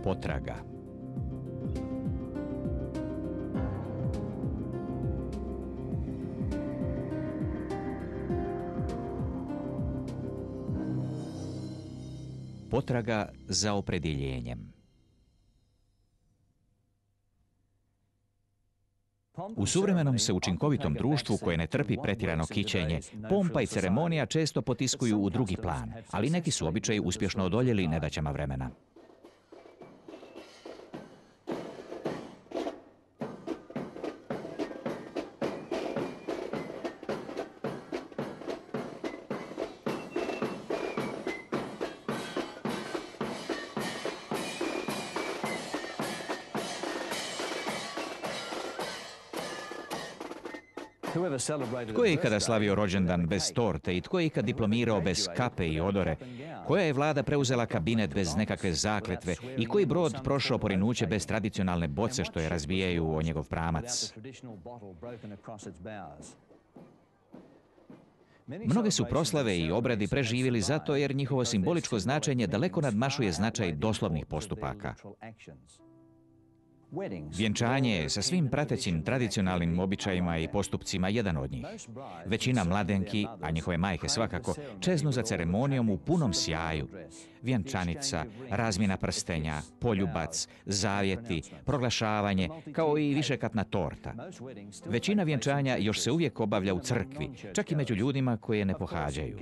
Potraga. Potraga za opredjeljenjem. U suvremenom se učinkovitom društvu koje ne trpi pretjerano kićenje, pompa i ceremonija često potiskuju u drugi plan, ali neki su običaji uspješno odoljeli nedaćama vremena. Tko je ikada slavio rođendan bez torte i tko je ikad diplomirao bez kape i odore? Koja je vlada preuzela kabinet bez nekakve zakletve i koji brod prošao porinuće bez tradicionalne boce što je razbijaju o njegov pramac? Mnoge su proslave i obredi preživjeli zato jer njihovo simboličko značenje daleko nadmašuje značaj doslovnih postupaka. Vjenčanje je sa svim pratećim tradicionalnim običajima i postupcima jedan od njih. Većina mladenki, a njihove majke svakako, čeznu za ceremonijom u punom sjaju. Vjenčanica, razmjena prstenja, poljubac, zavjeti, proglašavanje, kao i višekatna torta. Većina vjenčanja još se uvijek obavlja u crkvi, čak i među ljudima koje ne pohađaju.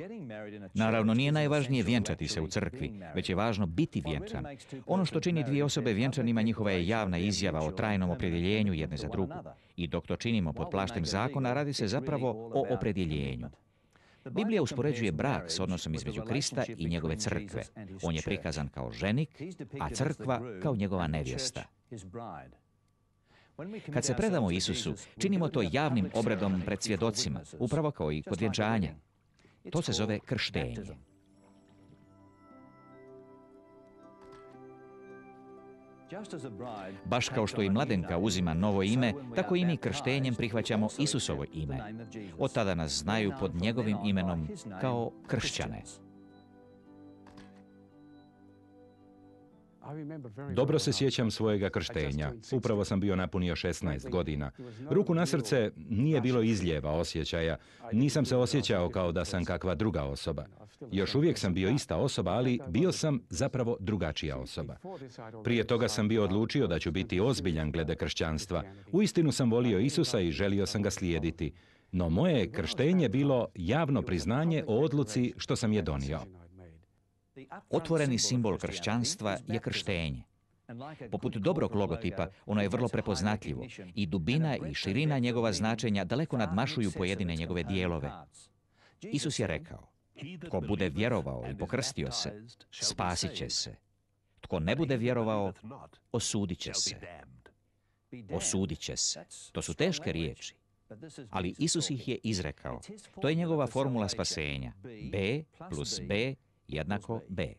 Naravno, nije najvažnije vjenčati se u crkvi, već je važno biti vjenčan. Ono što čini dvije osobe vjenčanima njihova je javna izjava o trajnom opredjeljenju jedne za drugu. I dok to činimo pod plaštem zakona, radi se zapravo o opredjeljenju. Biblija uspoređuje brak s odnosom između Krista i njegove crkve. On je prikazan kao ženik, a crkva kao njegova nevjesta. Kad se predamo Isusu, činimo to javnim obredom pred svjedocima, upravo kao i kod vjenčanja. To se zove krštenje. Baš kao što i mladenka uzima novo ime, tako i mi krštenjem prihvaćamo Isusovo ime. Od tada nas znaju pod njegovim imenom kao kršćane. Dobro se sjećam svojega krštenja. Upravo sam bio napunio 16 godina. Ruku na srce, nije bilo izljeva osjećaja. Nisam se osjećao kao da sam kakva druga osoba. Još uvijek sam bio ista osoba, ali bio sam zapravo drugačija osoba. Prije toga sam bio odlučio da ću biti ozbiljan glede kršćanstva. Uistinu sam volio Isusa i želio sam ga slijediti. No moje je krštenje bilo javno priznanje o odluci što sam je donio. Otvoreni simbol kršćanstva je krštenje. Poput dobrog logotipa, ono je vrlo prepoznatljivo i dubina i širina njegova značenja daleko nadmašuju pojedine njegove dijelove. Isus je rekao, tko bude vjerovao i pokrstio se, spasit će se. Tko ne bude vjerovao, osudit će se. Osudit će se. To su teške riječi. Ali Isus ih je izrekao. To je njegova formula spasenja. B plus B jednako B.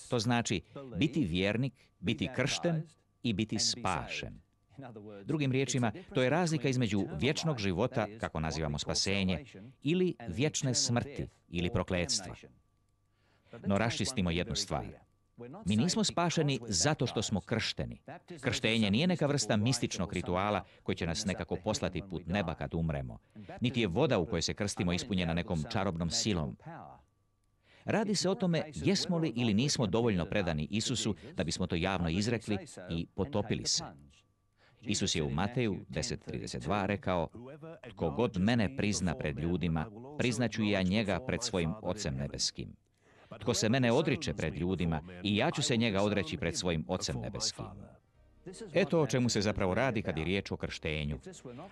To znači biti vjernik, biti kršten i biti spašen. Drugim riječima, to je razlika između vječnog života, kako nazivamo spasenje, ili vječne smrti ili prokletstva. No raščistimo jednu stvar. Mi nismo spašeni zato što smo kršteni. Krštenje nije neka vrsta mističnog rituala koji će nas nekako poslati put neba kad umremo. Niti je voda u kojoj se krstimo ispunjena nekom čarobnom silom. Radi se o tome jesmo li ili nismo dovoljno predani Isusu da bismo to javno izrekli i potopili se. Isus je u Mateju 10:32 rekao, tko god mene prizna pred ljudima, priznaću i ja njega pred svojim Ocem nebeskim. Tko se mene odriče pred ljudima, i ja ću se njega odreći pred svojim Ocem nebeskim. Eto o čemu se zapravo radi kad je riječ o krštenju.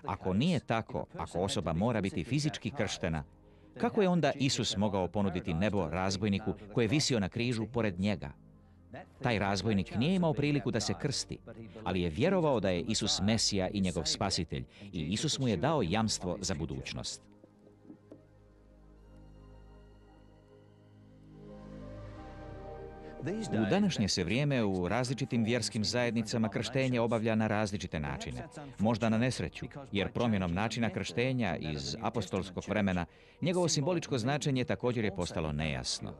Ako nije tako, ako osoba mora biti fizički krštena, kako je onda Isus mogao ponuditi nebo razbojniku koji je visio na križu pored njega? Taj razbojnik nije imao priliku da se krsti, ali je vjerovao da je Isus Mesija i njegov spasitelj i Isus mu je dao jamstvo za budućnost. U današnje se vrijeme u različitim vjerskim zajednicama krštenje obavlja na različite načine. Možda na nesreću, jer promjenom načina krštenja iz apostolskog vremena njegovo simboličko značenje također je postalo nejasno.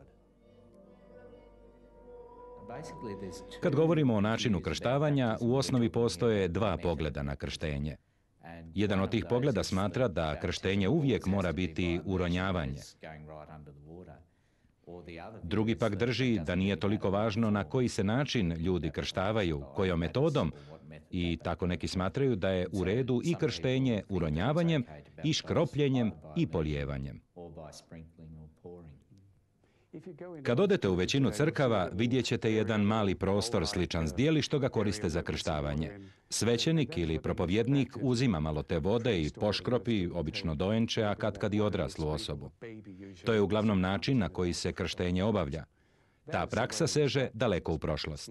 Kad govorimo o načinu krštavanja, u osnovi postoje dva pogleda na krštenje. Jedan od tih pogleda smatra da krštenje uvijek mora biti uronjavanje. Drugi pak drži da nije toliko važno na koji se način ljudi krštavaju, kojom metodom, i tako neki smatraju da je u redu i krštenje uronjavanjem, i škropljenjem, i polijevanjem. Kad odete u većinu crkava, vidjet ćete jedan mali prostor sličan zdjeli što ga koriste za krštavanje. Svećenik ili propovjednik uzima malo te vode i poškropi, obično dojenče, a katkad i odraslu osobu. To je uglavnom način na koji se krštenje obavlja. Ta praksa seže daleko u prošlost.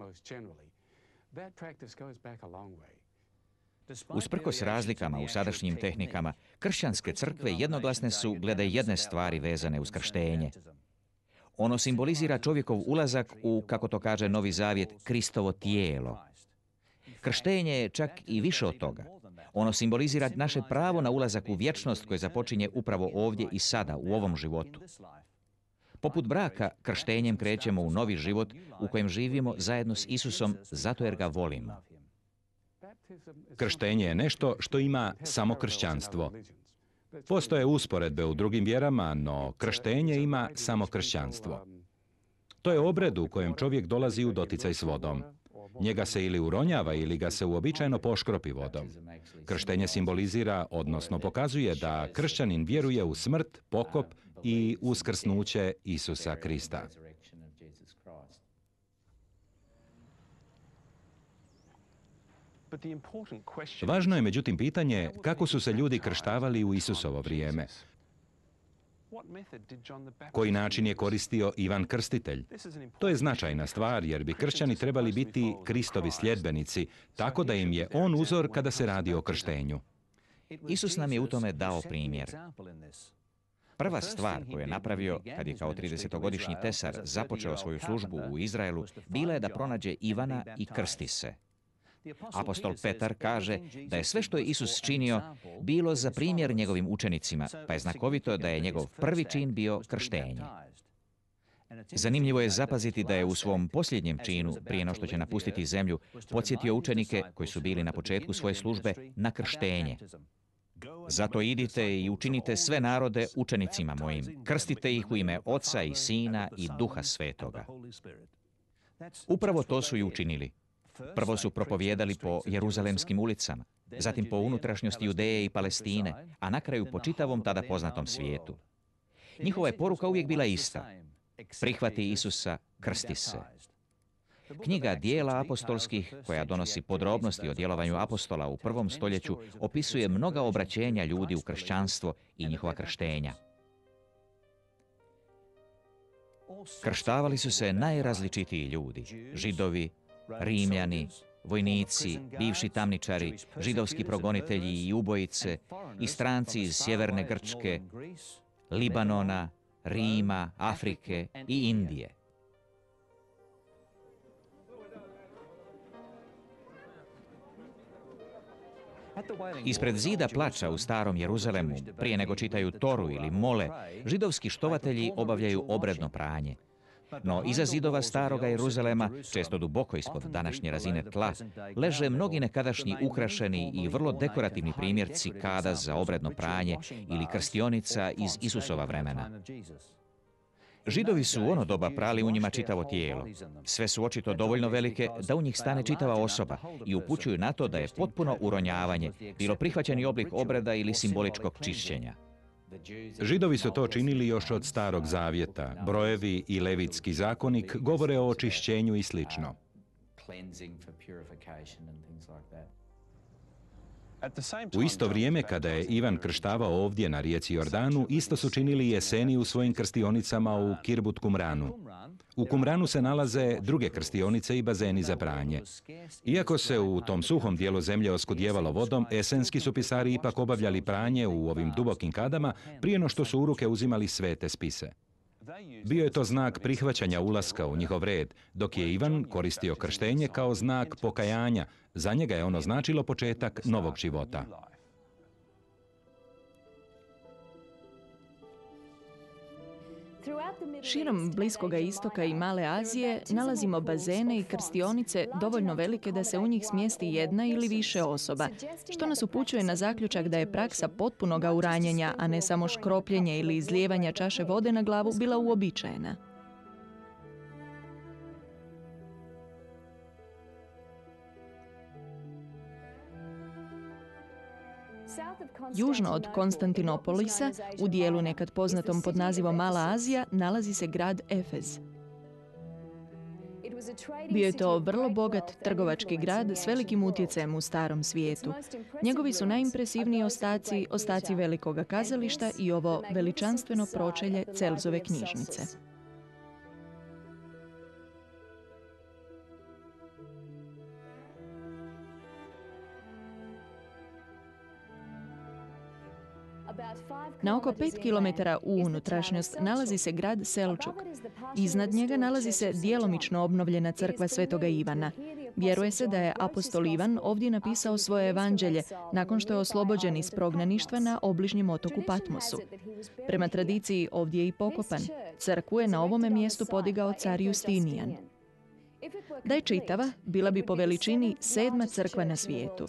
Usprkos razlikama u sadašnjim tehnikama, kršćanske crkve jednoglasne su glede jedne stvari vezane uz krštenje. Ono simbolizira čovjekov ulazak u, kako to kaže Novi Zavjet, Kristovo tijelo. Krštenje je čak i više od toga. Ono simbolizira naše pravo na ulazak u vječnost koje započinje upravo ovdje i sada, u ovom životu. Poput braka, krštenjem krećemo u novi život u kojem živimo zajedno s Isusom zato jer ga volimo. Krštenje je nešto što ima samo kršćanstvo. Postoje usporedbe u drugim vjerama, no krštenje ima samo kršćanstvo. To je obred u kojem čovjek dolazi u doticaj s vodom. Njega se ili uronjava ili ga se uobičajeno poškropi vodom. Krštenje simbolizira, odnosno pokazuje da kršćanin vjeruje u smrt, pokop i uskrsnuće Isusa Krista. Važno je međutim pitanje kako su se ljudi krštavali u Isusovo vrijeme. Koji način je koristio Ivan Krstitelj? To je značajna stvar jer bi kršćani trebali biti Kristovi sljedbenici, tako da im je on uzor kada se radi o krštenju. Isus nam je u tome dao primjer. Prva stvar koju je napravio kad je kao 30-godišnji tesar započeo svoju službu u Izraelu bila je da pronađe Ivana i krsti se. Apostol Petar kaže da je sve što je Isus činio bilo za primjer njegovim učenicima, pa je znakovito da je njegov prvi čin bio krštenje. Zanimljivo je zapaziti da je u svom posljednjem činu, prije no što će napustiti zemlju, podsjetio učenike koji su bili na početku svoje službe na krštenje. Zato idite i učinite sve narode učenicima mojim, krstite ih u ime Oca i Sina i Duha Svetoga. Upravo to su i učinili. Prvo su propovijedali po jeruzalemskim ulicama, zatim po unutrašnjosti Judeje i Palestine, a na kraju po čitavom tada poznatom svijetu. Njihova je poruka uvijek bila ista. Prihvati Isusa, krsti se. Knjiga Dijela apostolskih, koja donosi podrobnosti o djelovanju apostola u prvom stoljeću, opisuje mnoga obraćenja ljudi u kršćanstvo i njihova krštenja. Krštavali su se najrazličitiji ljudi, Židovi, Rimljani, vojnici, bivši tamničari, židovski progonitelji i ubojice, i stranci iz sjeverne Grčke, Libanona, Rima, Afrike i Indije. Ispred zida plača u starom Jeruzalemu, prije nego čitaju Toru ili mole, židovski štovatelji obavljaju obredno pranje. No iza zidova staroga Jeruzalema, često duboko ispod današnje razine tla, leže mnogi nekadašnji ukrašeni i vrlo dekorativni primjerci kada za obredno pranje ili krstionica iz Isusova vremena. Židovi su u ono doba prali u njima čitavo tijelo. Sve su očito dovoljno velike da u njih stane čitava osoba i upućuju na to da je potpuno uronjavanje bilo prihvaćeni oblik obreda ili simboličkog čišćenja. Židovi su to činili još od Starog Zavjeta. Brojevi i Levitski zakonik govore o očišćenju i slično. U isto vrijeme kada je Ivan krštavao ovdje na rijeci Jordanu, isto su činili jeseni u svojim krstionicama u Kirbut Kumranu. U Kumranu se nalaze druge krstionice i bazeni za pranje. Iako se u tom suhom dijelu zemlje oskudjevalo vodom, esenski su pisari ipak obavljali pranje u ovim dubokim kadama prije no što su u ruke uzimali svete spise. Bio je to znak prihvaćanja ulaska u njihov red, dok je Ivan koristio krštenje kao znak pokajanja. Za njega je ono značilo početak novog života. Širom Bliskoga istoka i Male Azije nalazimo bazene i krstionice dovoljno velike da se u njih smjesti jedna ili više osoba, što nas upućuje na zaključak da je praksa potpunoga uranjanja, a ne samo škropljenje ili izlijevanja čaše vode na glavu, bila uobičajena. Južno od Konstantinopolisa, u dijelu nekad poznatom pod nazivom Mala Azija, nalazi se grad Efez. Bio je to vrlo bogat trgovački grad s velikim utjecajem u starom svijetu. Njegovi su najimpresivniji ostaci velikoga kazališta i ovo veličanstveno pročelje Celzove knjižnice. Na oko 5 km u unutrašnjost nalazi se grad Selčuk. Iznad njega nalazi se djelomično obnovljena crkva Svetoga Ivana. Vjeruje se da je apostol Ivan ovdje napisao svoje evanđelje nakon što je oslobođen iz prognaništva na obližnjem otoku Patmosu. Prema tradiciji ovdje je i pokopan. Crkvu je na ovome mjestu podigao car Justinijan. Da je čitava, bila bi po veličini 7. crkva na svijetu.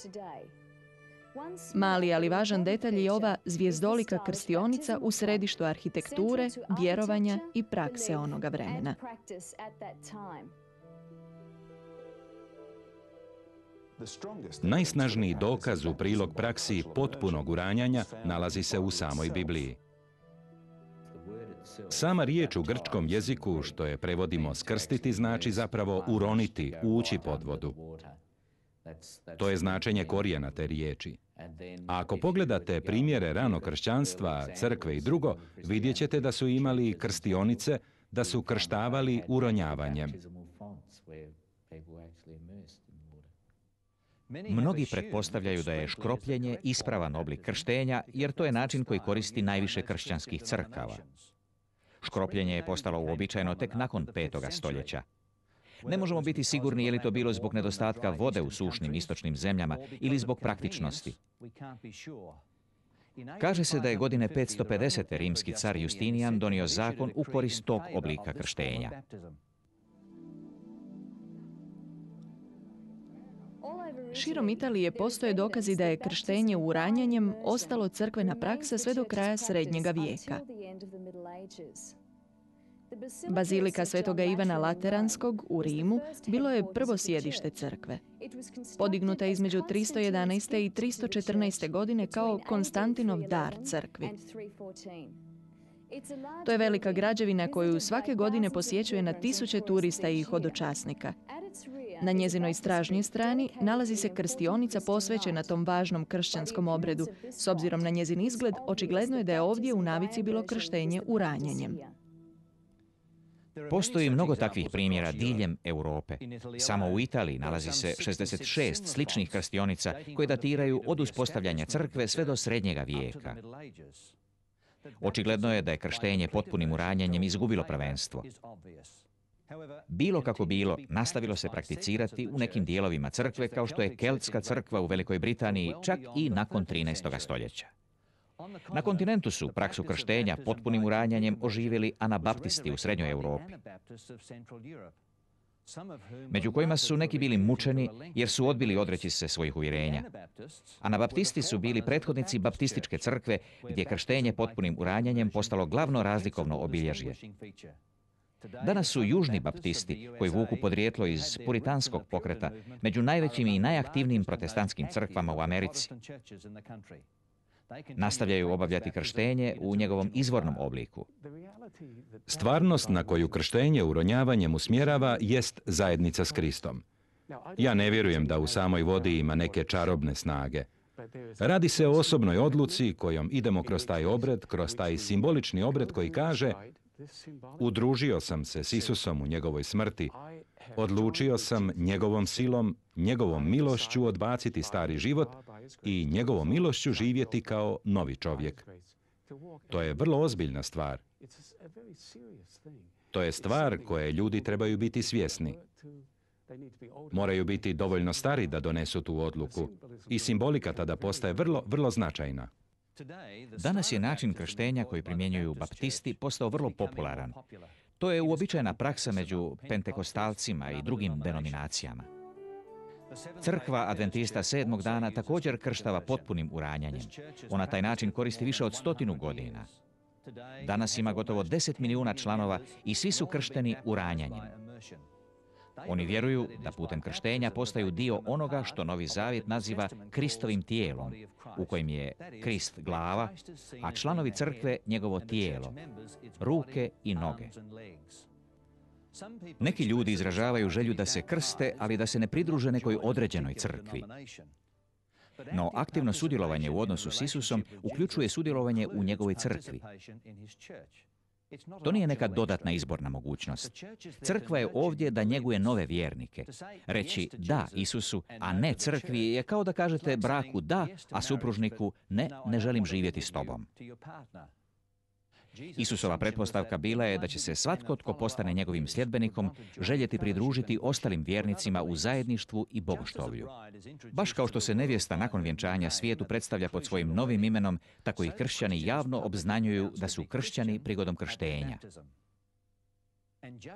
Mali, ali važan detalj je ova zvijezdolika krstionica u središtu arhitekture, vjerovanja i prakse onoga vremena. Najsnažniji dokaz u prilog praksi potpunog uranjanja nalazi se u samoj Bibliji. Sama riječ u grčkom jeziku, što je prevodimo skrstiti, znači zapravo uroniti, ući pod vodu. To je značenje korijena te riječi. A ako pogledate primjere ranog kršćanstva, crkve i drugo, vidjet ćete da su imali krstionice, da su krštavali uronjavanjem. Mnogi pretpostavljaju da je škropljenje ispravan oblik krštenja, jer to je način koji koristi najviše kršćanskih crkava. Škropljenje je postalo uobičajeno tek nakon 5. stoljeća. Ne možemo biti sigurni je li to bilo zbog nedostatka vode u sušnim istočnim zemljama ili zbog praktičnosti. Kaže se da je godine 550. rimski car Justinijan donio zakon u korist tog oblika krštenja. Širom Italije postoje dokazi da je krštenje uranjanjem ostalo crkvena praksa sve do kraja srednjega vijeka. Bazilika Svetoga Ivana Lateranskog u Rimu bilo je prvo sjedište crkve. Podignuta je između 311. i 314. godine kao Konstantinov dar crkvi. To je velika građevina koju svake godine posjećuje na tisuće turista i hodočasnika. Na njezinoj stražnjoj strani nalazi se krstionica posvećena tom važnom kršćanskom obredu. S obzirom na njezin izgled, očigledno je da je ovdje u navici bilo krštenje uranjanjem. Postoji mnogo takvih primjera diljem Europe. Samo u Italiji nalazi se 66 sličnih krstionica koje datiraju od uspostavljanja crkve sve do srednjega vijeka. Očigledno je da je krštenje potpunim uranjanjem izgubilo prvenstvo. Bilo kako bilo, nastavilo se prakticirati u nekim dijelovima crkve kao što je Keltska crkva u Velikoj Britaniji čak i nakon 13. stoljeća. Na kontinentu su praksu krštenja potpunim uranjanjem oživjeli anabaptisti u srednjoj Europi, među kojima su neki bili mučeni jer su odbili odreći se svojih uvjerenja. Anabaptisti su bili prethodnici baptističke crkve gdje je krštenje potpunim uranjanjem postalo glavno razlikovno obilježje. Danas su južni baptisti, koji vuku podrijetlo iz puritanskog pokreta, među najvećim i najaktivnijim protestantskim crkvama u Americi. Nastavljaju obavljati krštenje u njegovom izvornom obliku. Stvarnost na koju krštenje uronjavanjem usmjerava jest zajednica s Kristom. Ja ne vjerujem da u samoj vodi ima neke čarobne snage. Radi se o osobnoj odluci kojom idemo kroz taj obred, kroz taj simbolični obred koji kaže: udružio sam se s Isusom u njegovoj smrti, odlučio sam njegovom silom, njegovom milošću odbaciti stari život i njegovom milošću živjeti kao novi čovjek. To je vrlo ozbiljna stvar. To je stvar koje ljudi trebaju biti svjesni. Moraju biti dovoljno stari da donesu tu odluku i simbolika tada postaje vrlo, vrlo značajna. Danas je način krštenja koji primjenjuju baptisti postao vrlo popularan. To je uobičajena praksa među pentekostalcima i drugim denominacijama. Crkva Adventista sedmog dana također krštava potpunim uranjanjem. Ona taj način koristi više od 100 godina. Danas ima gotovo 10 milijuna članova i svi su kršteni uranjanjem. Oni vjeruju da putem krštenja postaju dio onoga što Novi Zavjet naziva Kristovim tijelom, u kojem je Krist glava, a članovi crkve njegovo tijelo, ruke i noge. Neki ljudi izražavaju želju da se krste, ali da se ne pridruže nekoj određenoj crkvi. No, aktivno sudjelovanje u odnosu s Isusom uključuje sudjelovanje u njegovoj crkvi. To nije neka dodatna izborna mogućnost. Crkva je ovdje da njeguje nove vjernike. Reći da Isusu, a ne crkvi je kao da kažete braku da, a supružniku ne želim živjeti s tobom. Isusova pretpostavka bila je da će se svatko tko postane njegovim sljedbenikom željeti pridružiti ostalim vjernicima u zajedništvu i bogoštovlju. Baš kao što se nevjesta nakon vjenčanja svijetu predstavlja pod svojim novim imenom, tako i kršćani javno obznanjuju da su kršćani prigodom krštenja.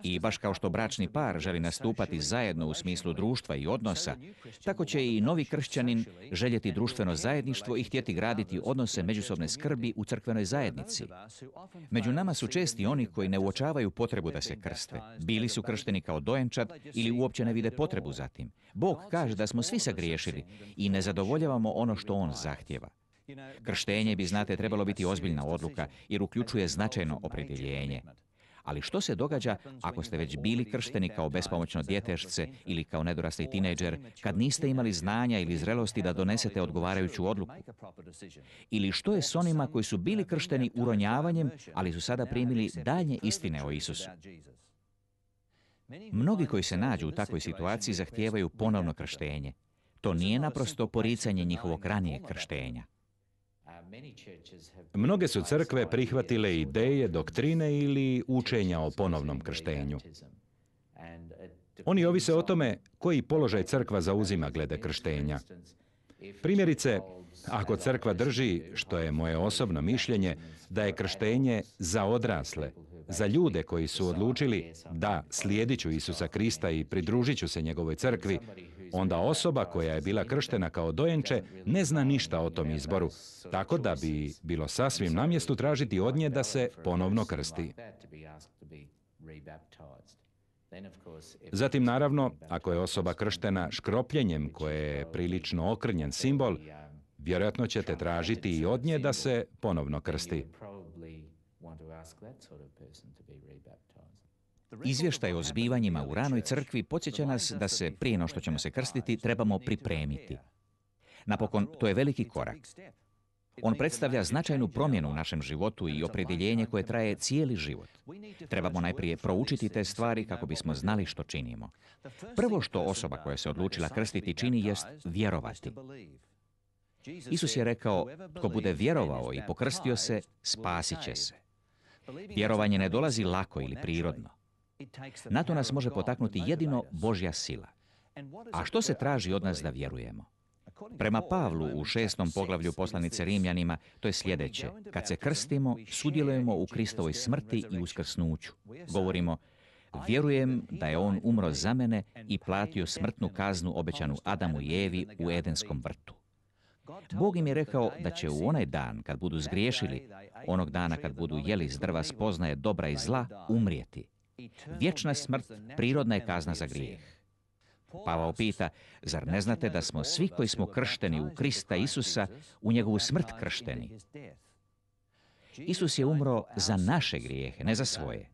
I baš kao što bračni par želi nastupati zajedno u smislu društva i odnosa, tako će i novi kršćanin željeti društveno zajedništvo i htjeti graditi odnose međusobne skrbi u crkvenoj zajednici. Među nama su česti oni koji ne uočavaju potrebu da se krste. Bili su kršteni kao dojenčad ili uopće ne vide potrebu za tim. Bog kaže da smo svi sagriješili i ne zadovoljavamo ono što On zahtjeva. Krštenje bi, znate, trebalo biti ozbiljna odluka jer uključuje značajno opredjeljenje. Ali što se događa ako ste već bili kršteni kao bespomoćno djetešce ili kao nedorasli tinejdžer, kad niste imali znanja ili zrelosti da donesete odgovarajuću odluku? Ili što je s onima koji su bili kršteni uronjavanjem, ali su sada primili daljnje istine o Isusu? Mnogi koji se nađu u takvoj situaciji zahtijevaju ponovno krštenje. To nije naprosto poricanje njihovog ranijeg krštenja. Mnoge su crkve prihvatile ideje, doktrine ili učenja o ponovnom krštenju. Oni ovise o tome koji položaj crkva zauzima glede krštenja. Primjerice, ako crkva drži, što je moje osobno mišljenje, da je krštenje za odrasle, za ljude koji su odlučili da slijedit ću Isusa Krista i pridružit ću se njegovoj crkvi, onda osoba koja je bila krštena kao dojenče ne zna ništa o tom izboru, tako da bi bilo sasvim na mjestu tražiti od nje da se ponovno krsti. Zatim, naravno, ako je osoba krštena škropljenjem koje je prilično okrnjen simbol, vjerojatno ćete tražiti i od nje da se ponovno krsti. Izvještaj o zbivanjima u ranoj crkvi podsjeća nas da se, prije no što ćemo se krstiti, trebamo pripremiti. Napokon, to je veliki korak. On predstavlja značajnu promjenu u našem životu i opredjeljenje koje traje cijeli život. Trebamo najprije proučiti te stvari kako bismo znali što činimo. Prvo što osoba koja se odlučila krstiti čini jest vjerovati. Isus je rekao, tko bude vjerovao i pokrstio se, spasit će se. Vjerovanje ne dolazi lako ili prirodno. Na to nas može potaknuti jedino Božja sila. A što se traži od nas da vjerujemo? Prema Pavlu u 6. poglavlju poslanice Rimljanima, to je sljedeće. Kad se krstimo, sudjelujemo u Kristovoj smrti i uskrsnuću. Govorimo, vjerujem da je on umro za mene i platio smrtnu kaznu obećanu Adamu i Evi u Edenskom vrtu. Bog im je rekao da će u onaj dan kad budu zgriješili, onog dana kad budu jeli s drva spoznaje dobra i zla, umrijeti. Vječna smrt prirodna je kazna za grijeh. Pavao pita, zar ne znate da smo svi koji smo kršteni u Krista Isusa u njegovu smrt kršteni? Isus je umro za naše grijehe, ne za svoje.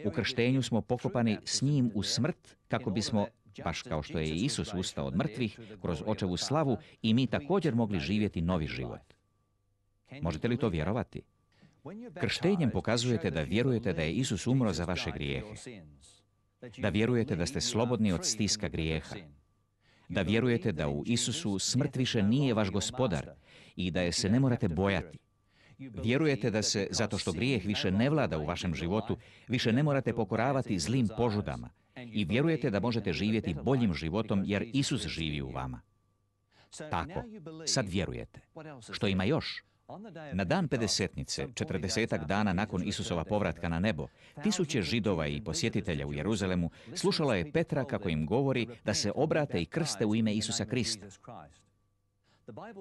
U krštenju smo pokopani s njim u smrt kako bismo, baš kao što je Isus ustao od mrtvih, kroz očevu slavu i mi također mogli živjeti novi život. Možete li to vjerovati? Krštenjem pokazujete da vjerujete da je Isus umro za vaše grijehe. Da vjerujete da ste slobodni od stiska grijeha. Da vjerujete da u Isusu smrt više nije vaš gospodar i da je se ne morate bojati. Vjerujete da se, zato što grijeh više ne vlada u vašem životu, više ne morate pokoravati zlim požudama i vjerujete da možete živjeti boljim životom jer Isus živi u vama. Tako, sad vjerujete. Što ima još? Na dan Pedesetnice, 40 dana nakon Isusova povratka na nebo, tisuće Židova i posjetitelja u Jeruzalemu slušalo je Petra kako im govori da se obrate i krste u ime Isusa Krista.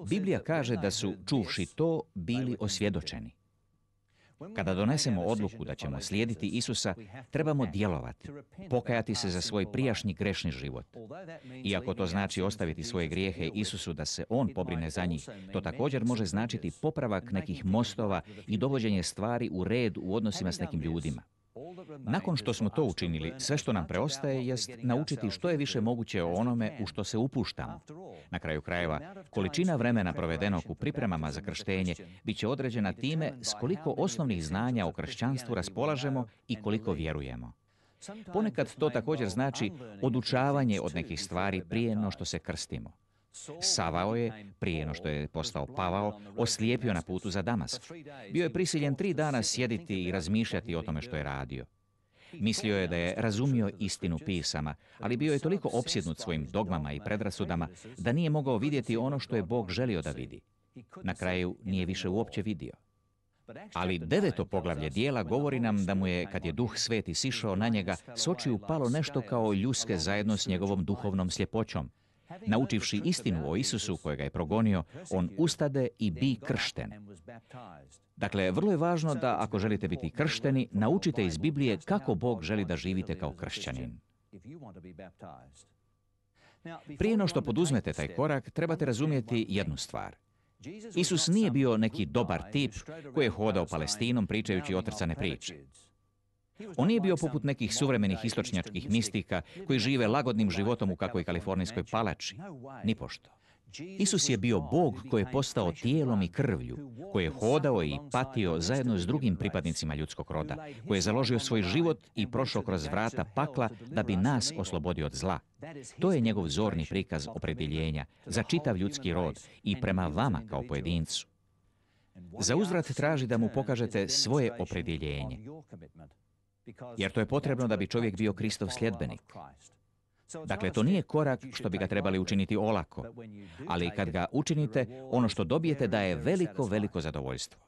Biblija kaže da su, čuvši to, bili osvjedočeni. Kada donesemo odluku da ćemo slijediti Isusa, trebamo djelovati, pokajati se za svoj prijašnji grešni život. Iako to znači ostaviti svoje grijehe Isusu da se On pobrine za njih, to također može značiti popravak nekih mostova i dovođenje stvari u red u odnosima s nekim ljudima. Nakon što smo to učinili, sve što nam preostaje jest naučiti što je više moguće o onome u što se upuštamo. Na kraju krajeva, količina vremena provedenog u pripremama za krštenje bit će određena time s koliko osnovnih znanja o kršćanstvu raspolažemo i koliko vjerujemo. Ponekad to također znači odučavanje od nekih stvari prije no što se krstimo. Savao je, prije no što je postao Pavao, oslijepio na putu za Damask. Bio je prisiljen 3 dana sjediti i razmišljati o tome što je radio. Mislio je da je razumio istinu pisama, ali bio je toliko opsjednut svojim dogmama i predrasudama da nije mogao vidjeti ono što je Bog želio da vidi. Na kraju nije više uopće vidio. Ali 9. poglavlje dijela govori nam da mu je, kad je Duh Sveti sišao na njega, s očiju palo nešto kao ljuske zajedno s njegovom duhovnom sljepoćom. Naučivši istinu o Isusu kojega je progonio, on ustade i bi kršten. Dakle, vrlo je važno da, ako želite biti kršteni, naučite iz Biblije kako Bog želi da živite kao kršćanin. Prije no što poduzmete taj korak, trebate razumjeti jednu stvar. Isus nije bio neki dobar tip koji je hodao Palestinom pričajući otrcane priče. On nije bio poput nekih suvremenih istočnjačkih mistika koji žive lagodnim životom u kakvoj kalifornijskoj palači. Nipošto. Isus je bio Bog koji je postao tijelom i krvlju, koji je hodao i patio zajedno s drugim pripadnicima ljudskog roda, koji je založio svoj život i prošao kroz vrata pakla da bi nas oslobodio od zla. To je njegov zorni prikaz opredjeljenja za čitav ljudski rod i prema vama kao pojedincu. Za uzvrat traži da mu pokažete svoje opredjeljenje, jer to je potrebno da bi čovjek bio Kristov sljedbenik. Dakle, to nije korak što bi ga trebali učiniti olako, ali kad ga učinite, ono što dobijete daje veliko, veliko zadovoljstvo.